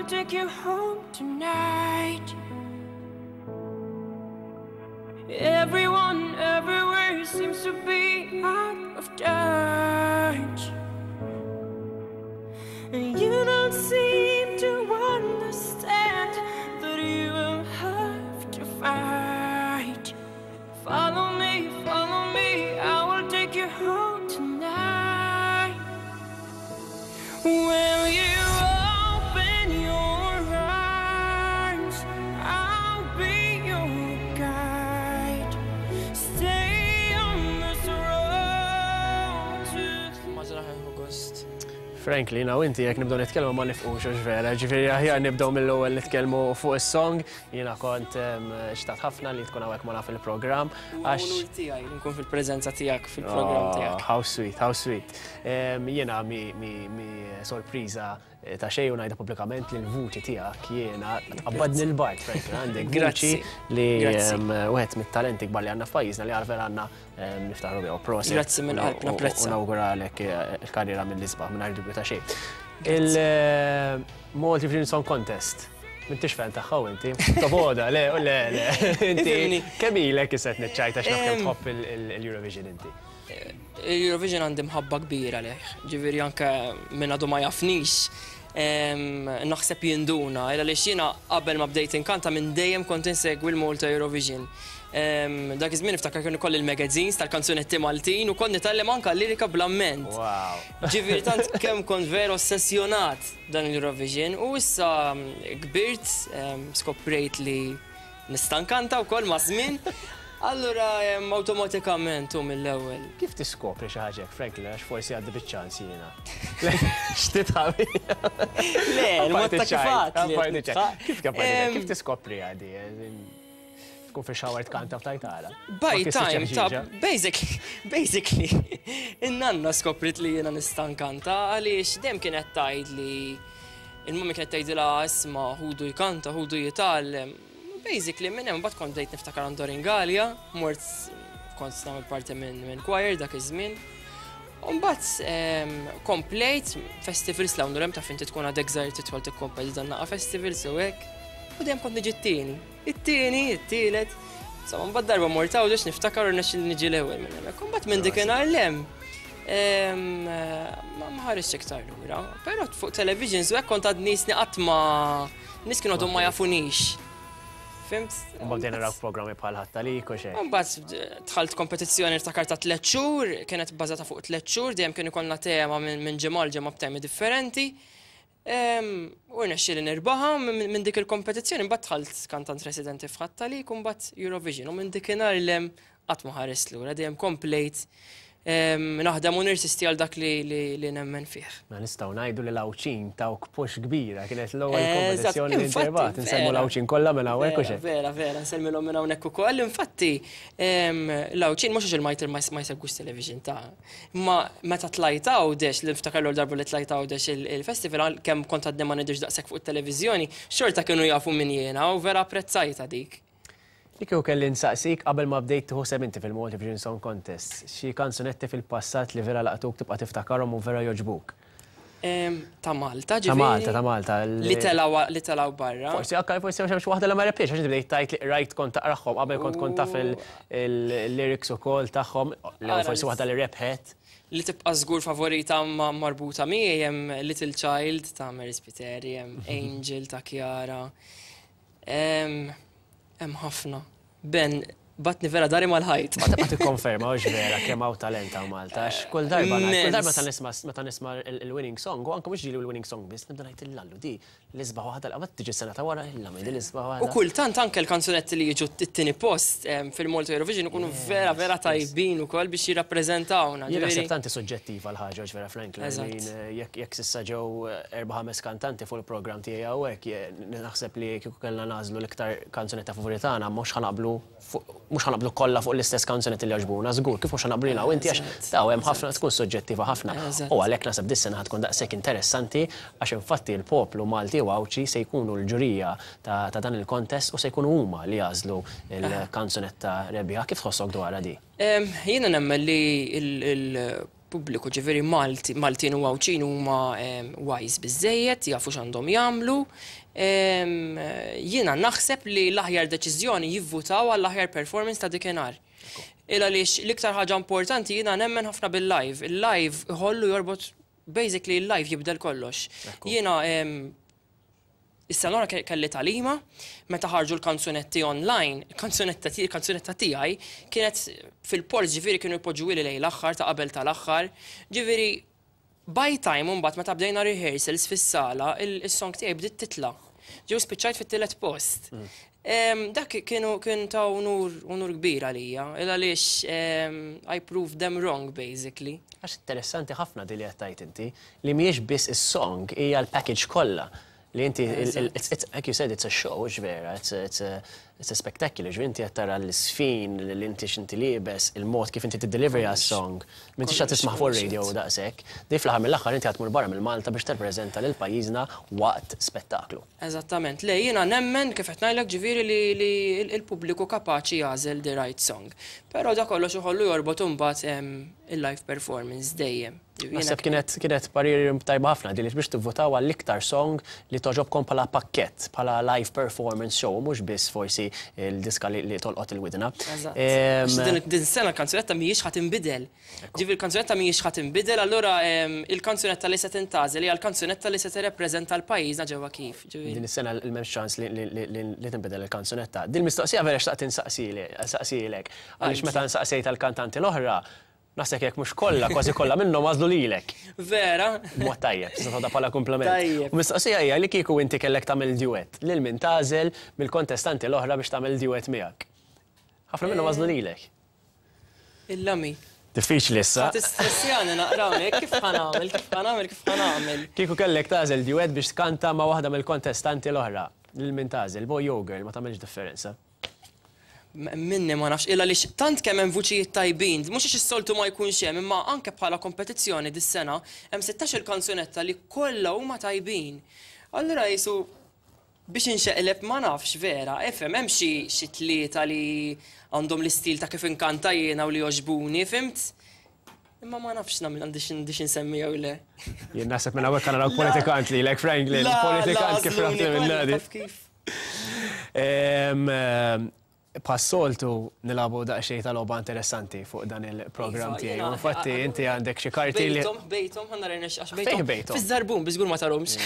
take you home tonight. Everyone everywhere seems to be out of touch. And you don't seem to understand that you will have to fight. Follow me, follow me, I will take you home tonight. Will you open your arms? I'll be your guide. Stay on this road to Mażra ħa gost. Frankly, now inti jekk nibdew nitkellmu ma nifqux hux vera, ġifieri aħjar nibdew mill-ewwel nitkellmu fuq is-song. Jiena kont xtaqt ħafna li tkun hawnhekk magħna fil-programm għax Unur tiegħi li nkun fil-preżenza tiegħek fil-programm tiegħek. Oh, how sweet, how sweet. Jiena mi sorpriża ta' xejn u ngħidha pubblikament li l-vuċi tiegħek jiena tqabbadni l-bard, Franklin, għandek vuċi li wieħed mit-talenti kbar li għandna f'pajjiżna li għal vera għandna niftaħru biha prosit. Grazzi minn qalb napprezza. U nawguralek il-karriera mill-isbaħ mingħajr dubju ta' xejn. Il-Malta Eurovision Song Contest. M'intix fan tagħha inti? Toboda, le, le, le. Inti kemm ilek iset niċċajta x'naf kemm tħobb il-Eurovision inti? Il-Eurovision għandi mħabba kbira leh. Ġifieri anke minn għadu ma jafnix. Naħseb jinduna, għaliex jiena qabel ma bdejt inkanta minn dejjem kont insegwi l-Malta Eurovision. Dak iż-żmien niftakar kienu kolli l-magazines tal-kanzunetti Maltin u kont nitgħallem anke l-lirika bl-amment. Ġifieri tant kemm kont vera ossessjonat dan l-Eurovision u issa kbirt, skoprejt li nista' nkanta wkoll maż-żmien. Allura awtomatikament u mill-ewwel. Kif tiskopri xi ħaġa hekk, Franklin, għax forsi għaddi biċ-ċans jiena. X'titħabi? Le, il-mod ta' kif għad. Kif kif tiskopri għadi? Tkun fi shower tkanta f'tajtara. By time, ta' basically, basically, in-nanna skoprit li jiena nista' nkanta għaliex dejjem kienet tgħid li il-mummy kienet tgħidilha isma' ħudu jkanta, ħudu jitgħallem. Basically, minn hemm mbagħad kont bdejt niftakar għand Doreen Galea, mort kont nagħmel parti minn choir dak iż-żmien. U mbagħad komplejt festivals l hawn ta' finti tkun għadek żgħir tidħol tikkompeti dan naqa' festivals u hekk. U dejjem kont niġi t-tieni. It-tieni, it-tielet. Insomma, mbagħad darba mort Għawdex niftakar u rnexxieli niġi l-ewwel minn hemmhekk. U mbagħad minn dikinhar 'l hemm ma ħarisx iktar lura. Però fuq televisions u hekk kont għad niesni qatt ma nies kienu għadhom ma jafunix. Fhimt? Mbagħad bdejna naraw programmi bħal Ħadd Għalik u xejn. Mbagħad dħalt kompetizzjoni niftakar ta' tliet xhur, kienet bbażata fuq tliet xhur, dejjem kien ikollna tema minn ġimgħa għal ġimgħa b'temi differenti. U rnexxieli nirbaħha minn dik il-kompetizzjoni, mbagħad dħalt kantant residenti f'Ħadd Għalik u mbagħad Eurovision u minn dikinhar 'l hemm qatt ma ħarist lura, dejjem komplejt naħdem u nirsisti għal dak li nemmen fih. Ma nistgħu ngħidu li l-Għawdxin tawk push kbira, kienet l-ewwel kompetizzjoni li inti rbaħt. Insellmu l-Għawdxin kollha minn hawnhekk u xejn. Vera, vera, nsellmilhom minn hawnhekk ukoll. Infatti, l-Għawdxin mhux għax il-Maltin ma jsegwux television ta' imma meta tlajt Għawdex, li niftakar l-ewwel darba li tlajt Għawdex il-festival, kemm kont għadni ma nidhirx daqshekk fuq it-televiżjoni, xorta kienu jafu min jiena u vera apprezzajtha dik. Li kieku kelli nsaqsik qabel ma bdejt tieħu sehem inti fil-Malta Eurovision Song Contest, xi kanzunetti fil-passat li vera laqtuk tibqa' tiftakarhom u vera jogħġbuk? Ta' Malta, ġifieri? Ta' Malta, ta' Malta. Li telgħu li telgħu barra. Forsi anke forsi hemm xi waħda li ma rebħitx għax inti bdejt tgħid li qrajt kont taqrahom qabel kont kont taf il-lyrics ukoll tagħhom, forsi waħda li rebħet. Li tibqa' żgur favorita marbuta miegħi hemm Little Child ta' Mary Spiteri, hemm Angel ta' Chiara. Hemm ħafna. Ben, batni vera dari mal-ħajt. Ma tibqa' tikkonferma hux vera kemm hawn talent hawn Malta, għax kull darba kull darba meta nisma' meta nisma' il-winning song, u anke mhux ġieli l-winning song biss, nibda ngħid illallu di l-isbaħ waħda li qabad tiġi s-sena ta' wara illa ma di l-isbaħ waħda. U kultant anke l-kanzunetti li jiġu t-tieni post fil-Malta Eurovision ikunu vera vera tajbin ukoll biex jirrappreżentawna. Jien naħseb tant hi suġġettiva l-ħaġa hux vera Franklin, jekk s'issa ġew erba' ħames kantanti fuq il-programm tiegħi hawnhekk, Naħseb li kieku kellna nagħżlu l-iktar kanzunetta favuri tagħna mhux ħa naqblu mhux ħa naqblu kollha fuq l-istess kanzunetti li jogħġbuna, żgur, kif mhux ħa naqblu jiena u inti għax daw hemm ħafna tkun suġġettiva ħafna. U għalhekk naħseb dis-sena ħa tkun daqshekk interessanti għax infatti l-poplu Malti u Għawdxi se jkunu l-ġurija ta' dan il-contest u se jkunu huma li jagħżlu l-kanzunetta rebbieħa. Kif tħossok dwarha di? Jiena nemmen li l. Il-pubbliku ġifieri Malti, Maltin u Għawdxin huma wise biżżejjed, jafu x'għandhom jagħmlu. Jiena naħseb li l-aħjar deċiżjoni jivvutaw għall-aħjar performance ta' dikinhar. Il għaliex l-iktar ħaġa importanti jiena nemmen ħafna bil-live. Il-live iħollu jorbot basically il-live jibdel kollox. Jiena Is-sena l-oħra kelli tagħlima, meta ħarġu l-kanzunetti online, il-kanzunetta il-kanzunetta tiegħi kienet fil-polls ġifieri kienu jpoġġuhieli lejn l-aħħar ta' qabel tal-aħħar. Ġifieri by time imbagħad meta bdejna rehearsals fis-sala, is-song tiegħi bdiet titla'. Ġew spiċċajt fit-tielet post. Dak kienu kien ta' unur unur kbir għalija, il għaliex I proved them wrong basically. Għax interessanti ħafna din li qed tgħid inti, li mhijiex biss is-song, hija l-package kollha. Li inti, like you said, it's a show, hux vera, it's a, it's a, it's a spectacular, ġifieri inti qed tara l-isfin, li inti x'inti liebes, il-mod kif inti tiddeliverja s-song, m'intix qed tisma' fuq ir-radio u daqshekk. Din fl-aħħar mill-aħħar inti qed tmur barra minn Malta biex tirrappreżenta lil pajjiżna waqt spettaklu. Eżattament. Le, jiena nemmen, kif qed ngħidlek, ġifieri li li l-pubbliku kapaċi jagħżel the right song. Però da kollox iħollu jorbot imbagħad il-live performance dejjem. Naħseb kienet kienet parir tajba ħafna din biex tivvutaw għall-iktar song li togħġobkom bħala pakkett, bħala live performance show, mhux biss forsi l-diska li tolqot il-widna. Eżatt. Għax din is-sena l-kanzunetta mhijiex ħa tinbidel. Ġifieri l-kanzunetta mhijiex ħa tinbidel, allura il-kanzunetta li se tintgħażel hija l-kanzunetta li se tirrepreżenta l-pajjiżna ġewwa Kiev. Din is-sena m'hemmx ċans li tinbidel il-kanzunetta. Din il-mistoqsija vera xtaqt insaqsihielek għaliex meta nsaqsejt għall-kantanti l-oħra, Naħseb jekk mhux kollha, kważi kollha minnhom għażlu lilek. Vera? B'mod tajjeb, tista' toħodha bħala kumpliment. Tajjeb. U mistoqsija hija li kieku inti kellek tagħmel duet, lil min tagħżel mill-kontestanti l-oħra biex tagħmel duet miegħek? Ħafna minnhom għażlu lilek. Il-Lami. Diffiċli issa. Ħa tistressjani naqra hawnhekk, kif ħa nagħmel, kif ħa nagħmel, kif ħa nagħmel. Kieku kellek tagħżel duet biex tkanta ma' waħda mill-kontestanti l-oħra, lil min tagħżel, boy jew girl, ma tagħmilx differenza. Minni ma nafx, il għaliex tant kemm hemm vuċijiet tajbin, mhux għax is-soltu ma jkunx hemm, imma anke bħala kompetizzjoni dis-sena hemm 16-il kanzunetta li kollha huma tajbin. Allura qisu biex inxeqleb ma nafx vera, ifhem hemm xi xi tlieta li għandhom l-istil ta' kif inkanta jiena u li jogħġbuni, fhimt? Imma ma nafx nagħmel għandi x'għandi x'insemmi jew le. Jien naħseb minn hawnhekk ħa narawk politikant lilek Franklin, politikant kif raħt minn nadi. Taf kif. Bħas-soltu nilagħbu daqsxejn ta' logħba interessanti fuq dan il-programm iva, tiegħi. Infatti inti għandek xi karti li. Bejthom, bejthom, ħa nara għax bejthom. Bejthom. Fiż-żarbun, biżgur ma tarhomx.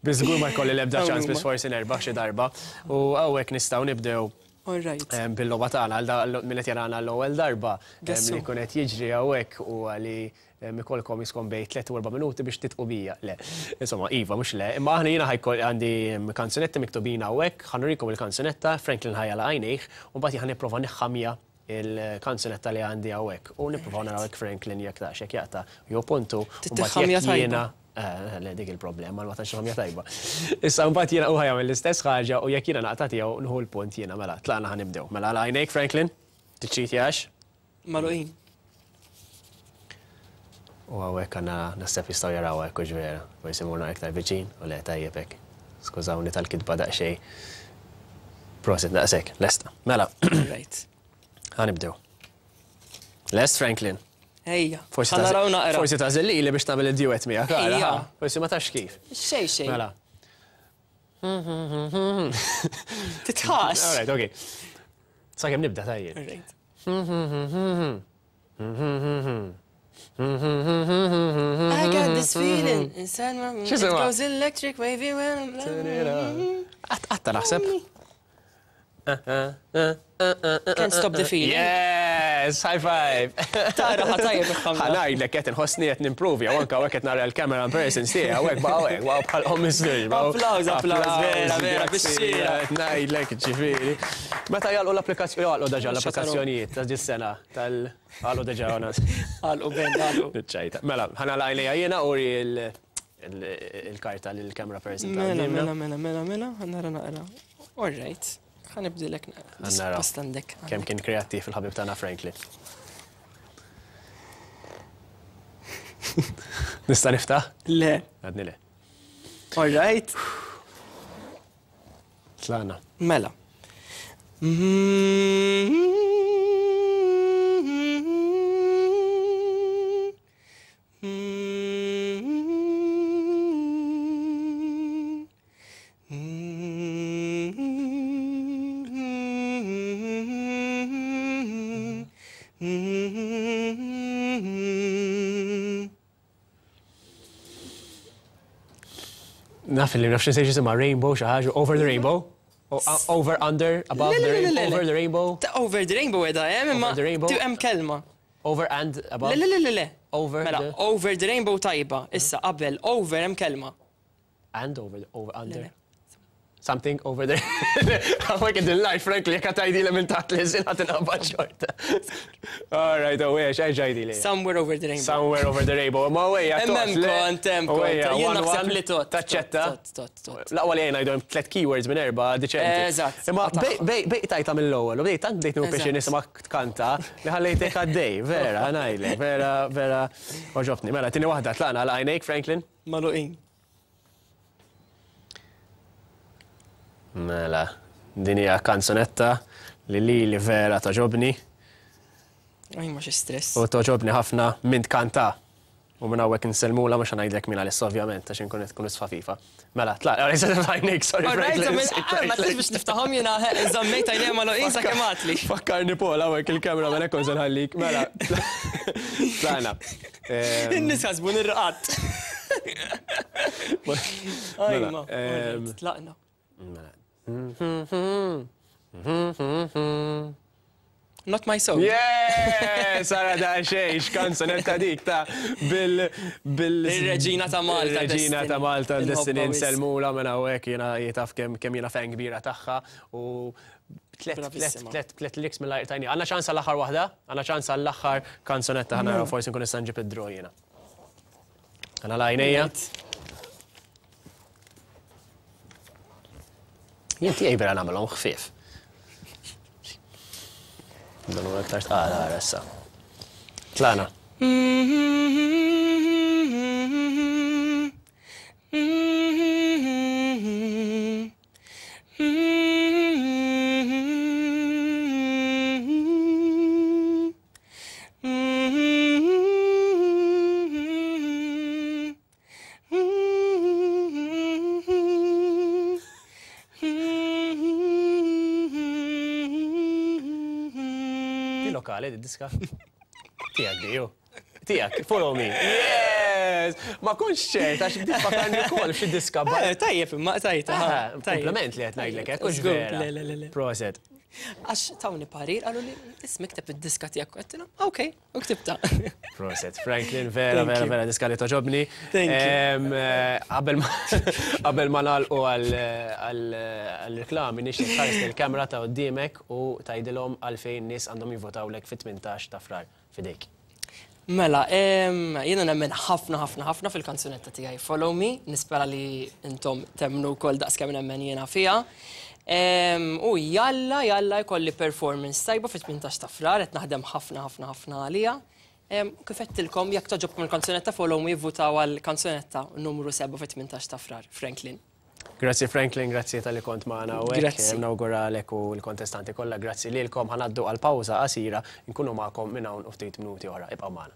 Biżgur ma jkolli l-ebda ċans biex forsi nerbaħ xi darba. U hawnhekk nistgħu nibdew bil-logħba tagħna għal min qed jarana l-ewwel darba li jkun qed jiġri hawnhekk huwa li Ikollkom jiskom bejn tliet u erba' minuti biex titqu bija. Le. Insomma, iva, mhux le. Imma aħna jiena ħa għandi kanzunetti miktubin hawnhekk, ħa nurikom il-kanzunetta, Franklin ħa jagħlaq għajnejh, u mbagħad jien ħa nipprova niħħamja il-kanzunetta li għandi hawnhekk. U nipprovaw naraw hekk Franklin jekk taqx jekk jaqta' jew puntu. U mbagħad jekk jiena Le, dik il-problema, ma tantx ħamja tajba. Issa mbagħad jiena u ħa jagħmel l-istess ħaġa u jekk jiena naqta' tiegħu nħu l-punt jiena mela tlaqna ħa nibdew. Mela għalaq għajnejk Franklin? Tiċċitjax? Magħluqin. U hawnhekk għandna naħseb jistgħu jarawha hekk hux vera. Forsi mmur naqra iktar viċin u le tajjeb hekk. Skużawni tal-kitba daqsxejn. Prosit daqshekk, lesta. Mela. Right. Ħa nibdew. Lest Franklin? Ejja. Forsi naraw naqra. Forsi tagħżel lili biex tagħmel id-duet miegħek. Ejja. Forsi ma tafx kif. Xejn xejn. Mela. Titħass. All right, okay. Sakemm nibda tajjeb. I got this feeling inside my It goes electric wavy when I'm Għatta naħseb. Can't stop the feeling. Yes, high five. Tara ħatajjeb il-ħamra. Ħanajdlek qed inħossni qed nimprovja u anke hawnhekk qed nara l-camera person tiegħi hawnhekk baqgħu hekk, baqgħu bħal omm is-sirġ. Applaws, applaws, vera, vera, bix-xira. Ngħidlek ġifieri. Meta jagħlqu l-applikazzjoni, jagħlqu diġà l-applikazzjonijiet ta' dis-sena tal għalqu diġà nas. Għalqu ben, għalqu. Niċċajta. Mela, ħanagħlaq għajnejja jiena uri l-karta lill-camera person ta' Mela, mela, mela, mela, mela, ħa nara naqra. All right. Ħa nibdilek naqra. Għandek. Kemm kien kreattiv il-ħabib tagħna Franklin. Nista' niftaħ? Le. Għadni le. All right. Tlaqna. Mela. Naf li nafx nsejx jisimha Rainbow xi ħaġa, Over the Rainbow. Over, under, above the rainbow, over the rainbow. Ta' over the rainbow edha hemm imma hemm kelma. Over and above. Le le le le. Over. Mela, over the rainbow tajba. Issa qabel over hemm kelma. And over, over, under. Something over there. Għawek id life, frankly, jekk għatajdi li minn taħt li zin għat inqabad xorta. All right, oh, għex, għex ġajdi li. Somewhere over the rainbow. Somewhere over the rainbow. Ma għeja, tot. Kont, em kont. Jien naħseb li tot. Taċċetta. L-aqwa li għajna jdom tlet keywords minn erba diċenti. Eżatt. Imma bej tajta mill-ewwel, u bej tant bdejt nieħu pjaċir nisma' tkanta li ħallejtek għaddej, vera, ngħidlek, vera, vera, oġobni. Mela, tieni waħda tlaqna għal għajnejk, Franklin. Magħluqin. Mela, din hija kanzunetta li lili vera togħġobni. Aj, ma xi stress. U togħġobni ħafna min tkanta. U minn hawnhekk insellmulha mhux ħa ngħidlek min għalissa ovvjament għax inkun qed tkun sfafifa. Mela, tlaq, għajnejk, sorry. Ma tix biex niftaħhom jiena żammejt għajnejja magħluqin sakemm għadtli. Fakkarni Paul hawnhekk il-camera mela hekk kont se nħallik. Mela, tlaqna. In-nies ħasbu nirqatt. Mela, tlaqna. Mela. Not my soul. Yeah! Sara da xejn, x'kanzunetta dik ta' bil bil Ir-Reġina ta' Malta. Ir-Reġina ta' Malta Destiny nsellmulha minn hawnhekk jiena jitaf kemm kemm jiena fan kbira tagħha u tlet tlet tlet tlet lyrics mill-ajr tajni. Għandna ċans għall-aħħar waħda? Għandna ċans għall-aħħar kanzunetta ħa naraw forsi nkun nista' nġib id-draw jiena. Għandna l-għajnejja. Jien tiegħi vera nagħmilhom ħfief. Dan huwa iktar tqal ara issa. Tlaqna. Di lokali, di diska. Tiegħek di, ju. Tiegħek, follow me. Yes! Ma kontx ċert għax bdiet tfakkarni wkoll f'xi diska. Eh, tajjeb imma qtajtha. Eh, kompliment li qed ngħidlek, hekk hux vera. Le, le, le. Proset. Għax tawni parir qalu li isma' ikteb id-diska tiegħek u għedtilhom, ok, u ktibtha. Proset, Franklin, vera, vera, vera diska li toġobni. Thank you. Eh, qabel ma qabel ma nagħlqu għall-reklami nixtieq tħares il-kamera ta' quddiemek u tgħidilhom għalfejn nies għandhom jivvotawlek fit-18 ta' Frar. F'idejk. Mela, jiena nemmen ħafna ħafna ħafna fil-kanzunetta tiegħi Follow Me, nispera li intom temmnu wkoll daqskemm nemmen jiena fiha. U jalla jalla jkolli performance tajba fit-18 ta' Frar, qed naħdem ħafna ħafna ħafna għaliha. U kif għedtilkom, jekk togħġobkom il-kanzunetta Follow Me, ivvutaw għall-kanzunetta numru 7 fit-18 ta' Frar, Franklin. Grazzi Franklin, grazzi talli kont magħna hawnhekk. Grazzi. Nawguralek u l-kontestanti kollha, grazzi lilkom. Ħa ngħaddu għal pawża qasira, nkunu magħkom minn hawn u ftit minuti oħra. Ibqgħu magħna.